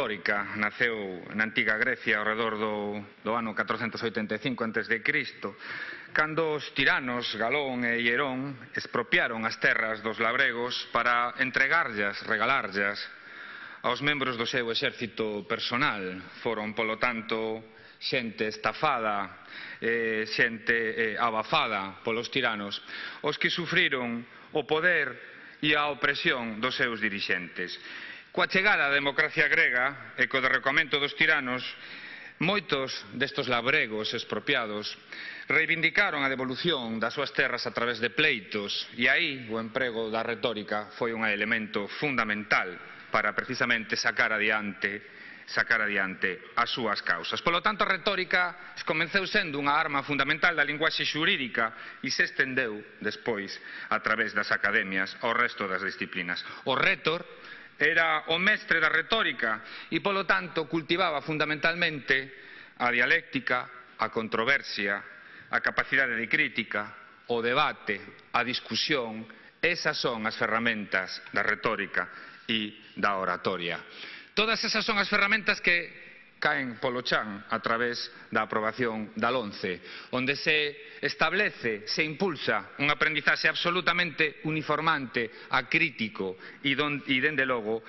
retórica naceu na antiga Grecia ao redor do ano 485 a.C., cando os tiranos Galón e Hierón expropiaron as terras dos labregos para entregarllas, regalarllas aos membros do seu exército personal. Foron, polo tanto, xente estafada, xente abafada polos tiranos, os que sufriron o poder e a opresión dos seus dirixentes. Coa chegada da democracia grega e co derrocamento dos tiranos, moitos destes labregos expropiados reivindicaron a devolución das súas terras a través de pleitos, e aí o emprego da retórica foi un elemento fundamental para precisamente sacar adiante as súas causas. Polo tanto, a retórica comezou sendo unha arma fundamental da linguaxe xurídica e se estendeu despois a través das academias ao resto das disciplinas. O rétor era o mestre da retórica e, polo tanto, cultivaba fundamentalmente a dialéctica, a controversia, a capacidade de crítica, o debate, a discusión. Esas son as ferramentas da retórica e da oratoria. Todas esas son as ferramentas que caen polo chan a través da aprobación da LOMCE, onde se establece, se impulsa un aprendizaxe absolutamente uniformante, acrítico e dende logo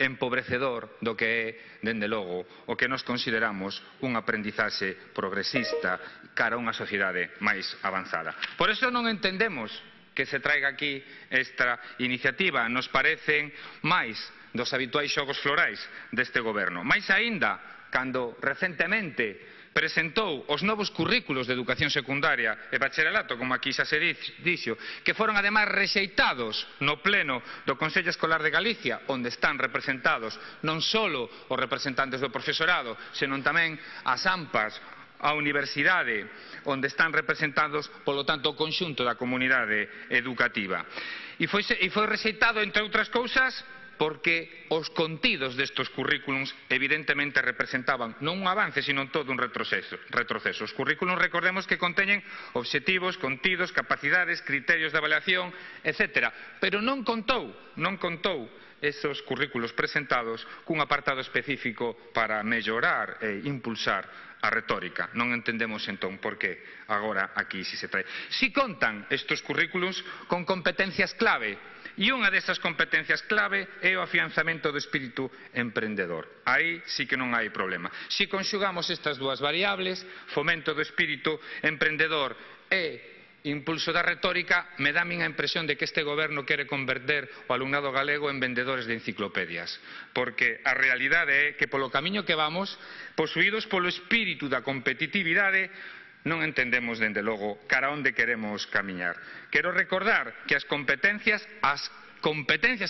empobrecedor do que é, dende logo, o que nos consideramos un aprendizaxe progresista cara a unha sociedade máis avanzada. Por eso non entendemos que se traiga aquí esta iniciativa. Nos parecen máis dos habituais xogos florais deste goberno. Mais aínda, cando recentemente presentou os novos currículos de educación secundaria e bacharelato, como aquí xa se dixo, que foron ademais rexeitados no pleno do Consello Escolar de Galicia, onde están representados non só os representantes do profesorado, senón tamén as AMPAs, a universidade, onde están representados, polo tanto, o conxunto da comunidade educativa. E foi rexeitado, entre outras cousas, porque os contidos destes currículums evidentemente representaban non un avance, sino todo un retroceso. Os currículums, recordemos que conteñen obxectivos, contidos, capacidades, criterios de avaliación, etc. Pero non contou esos currículos presentados cun apartado específico para mellorar e impulsar a retórica. Non entendemos entón por que agora aquí si se trae. Si contan estes currículos con competencias clave, e unha desas competencias clave é o afianzamento do espírito emprendedor. Aí sí que non hai problema. Si conxugamos estas dúas variables, fomento do espírito emprendedor e impulso da retórica, me dá a miña impresión de que este goberno quere converter o alumnado galego en vendedores de enciclopedias, porque a realidade é que polo camiño que vamos, posuídos polo espírito da competitividade, non entendemos, dende logo, cara onde queremos camiñar. Quero recordar que as competencias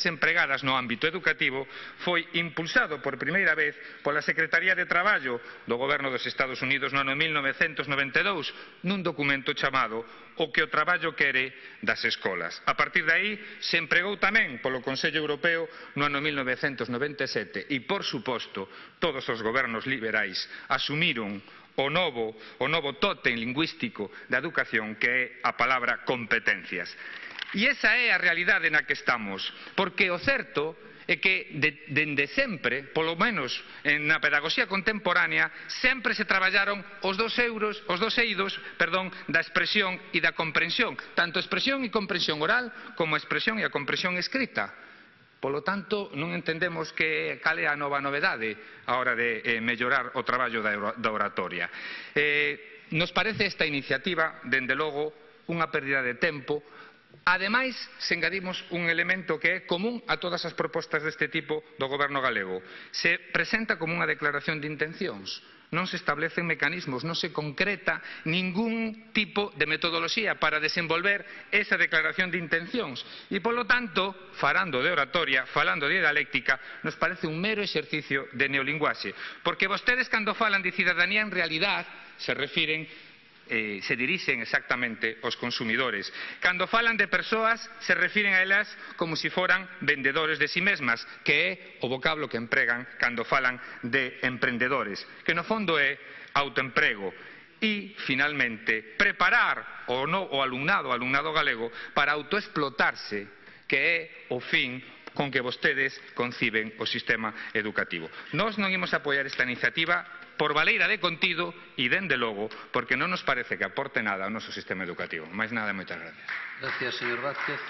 empregadas no ámbito educativo foi impulsado por primeira vez pola Secretaría de Traballo do Goberno dos Estados Unidos no ano 1992 nun documento chamado O que o traballo quere das escolas. A partir de aí se empregou tamén polo Consello Europeo no ano 1997 e, por suposto, todos os gobernos liberais asumiron o novo tótem lingüístico da educación, que é a palabra competencias. E esa é a realidade na que estamos, porque o certo é que dende sempre, polo menos na pedagogía contemporánea, sempre se traballaron os dos eidos da expresión e da comprensión, tanto expresión e comprensión oral como a expresión e a comprensión escrita. Polo tanto, non entendemos cal é a nova novedade a hora de mellorar o traballo da oratoria. Nos parece esta iniciativa, dende logo, unha pérdida de tempo. Ademais, se engadimos un elemento que é común a todas as propostas deste tipo do goberno galego. Se presenta como unha declaración de intencións. Non se establecen mecanismos, non se concreta ningún tipo de metodoloxía para desenvolver esa declaración de intencións. E, polo tanto, falando de oratoria, falando de dialéctica, nos parece un mero exercicio de neolinguaxe. Porque vostedes, cando falan de cidadanía, en realidad se dirixen exactamente aos consumidores. Cando falan de persoas, se refiren a elas como se foran vendedores de si mesmas, que é o vocablo que empregan cando falan de emprendedores, que no fondo é autoemprego. E, finalmente, preparar o alumnado galego para autoexplotarse, que é o fin con que vostedes conciben o sistema educativo. Nós non imos apoiar esta iniciativa por baleira de contido e, dende logo, porque non nos parece que aporte nada ao noso sistema educativo. Máis nada, moitas gracias. Gracias, señor Vázquez.